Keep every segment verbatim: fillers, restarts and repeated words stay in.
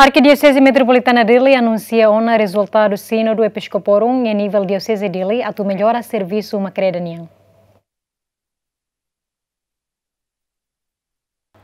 Arkidioseze Metropolitana Dili anunsia ona rezultadu Sínodu Episkoporum iha nivel Dioseze Dili atu mellora servisu uma-kreda nian.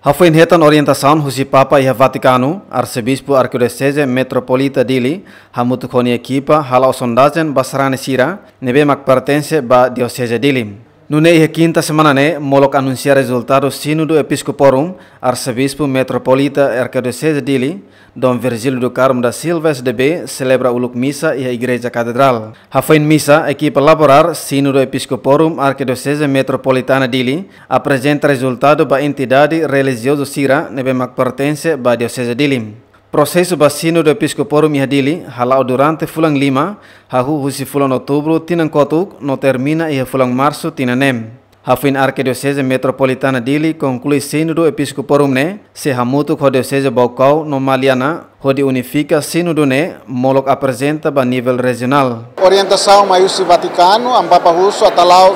Hafoin hetan orientasaun husi Papa iha Vatikanu, Arsebispu Arkidioseze Metropolita Dili hamutuk ho nia ekipa hala'o sondajen ba sarani sira ne'ebé mak pertense ba Dioseze Dili. Nune'e iha kinta semana ne'e molok anunsia rezultadu Sínodu Episkoporum, Arsebispu Metropolita Arkidioseze Dili, Dom Virgílio do Carmo da Silva S D B, selebra uluk misa iha Igreja Katedrál. Hafoin misa, ekipa laborál Sínodu Episkoporum Arkidioseze Metropolitana Dili aprezenta rezultadu ba entidade relijiozu sira ne'ebé mak pertense ba Dioseze Dili. Prosesu ba Sínodu Episkoporum iha Dili hala'o durante fulan lima, hahú husi fulan Outubru tinan kotuk no termina iha fulan Marsu tinan neen. Hafoin Arkidioseze Metropolitana Dili konklui Sínodu Episkoporum ne'e, sei hamutuk ho Dioseze Baucau no Maliana hodi unifika Sínodu ne'e molok aprezenta ba nivel rejionál. Orientasaun mai husi Vatikanu, Amu Papa husu atu hala'o,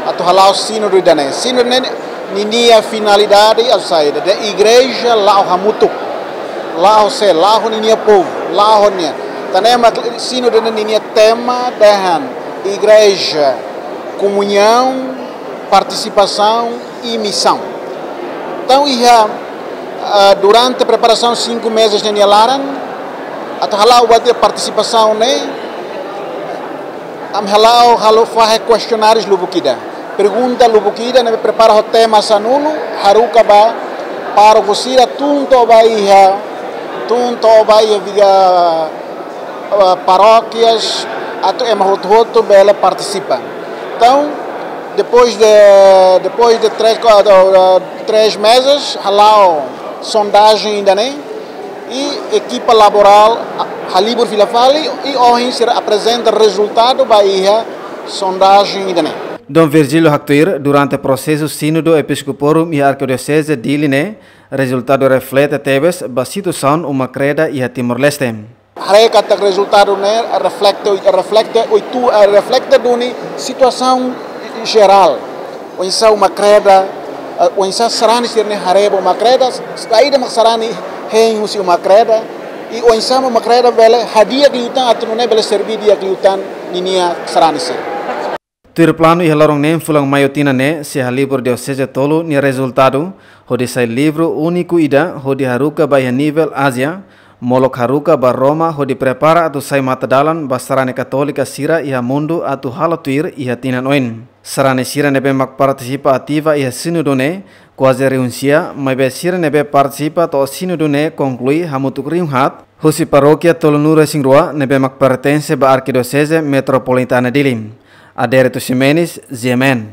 atu hala'o Sínodu ida-ne'e. Sínodu ne'e ninia finalidade atu saida, dehan igreja la'o hamutuk. La'o sé, la'o ninia povu, la'o nia. Tan ne'e mak Sínodu ne'e ninia tema dehan igreja, komuñaun, partisipasaun i misaun. Entaun, iha, ah, durante preparasaun cinco meses ne'e nia laran, atu hala'o buat iha partisipasaun ne'e, ami hala'o, halo fahe kestionáriu lubuk ida. Pergunta lubuk ida ne'ebé prepara ho tema sanulu, haruka ba pároku sira tun to'o ba iha, tun to'o ba iha viga, ah, parókias, atu ema hotu-hotu bele partisipa. Entaun, depois de, depois de três, quatro, ah, três meses, hala'o sondajen ida-ne'e, i ekipa laborál, ah, halibur fila fali, i ohin sira aprezenta rezultadu ba iha sondajen ida-ne'e. Dom Virgílio haktuir, durante prosesu Sínodu Episkoporum iha Arkidioseze Dili ne'e, rezultadu reflete tebes ba situasaun uma-kreda iha Timor-Leste. Haree katak rezultadu ne'e reflete, reflete oitu, eh, reflete duni situasaun jerál. Oinsá uma-kreda, eh, oinsá sarani sira-ne'e haree ba uma-kreda, saida mak sarani hein husi uma-kreda, i oinsá mak uma-kreda bele hadi'a liután atu nune'e bele serví di'ak liután ninia sarani sira. Tuir planu iha loron neen fulan Maiu tinan ne'e, sei halibur dioseze tolu nia rezultadu, hodi sai livru úniku ida, hodi haruka ba iha nivel Ázia, molok haruka ba Roma, hodi prepara atu sai matadalan ba sarani katólika sira iha mundu atu halo tuir iha tinan oin. Sarani sira ne'ebé mak partisipa ativa iha sínodu ne'e, kuaze rihun sia, maibé sira ne'ebé partisipa to'o sínodu ne'e konklui hamutuk rihun haat, husi parókia tolunulu-resin-rua ne'ebé mak pertense ba Arkidioseze Metropolitana Dili. Adérito Ximenes, G M N.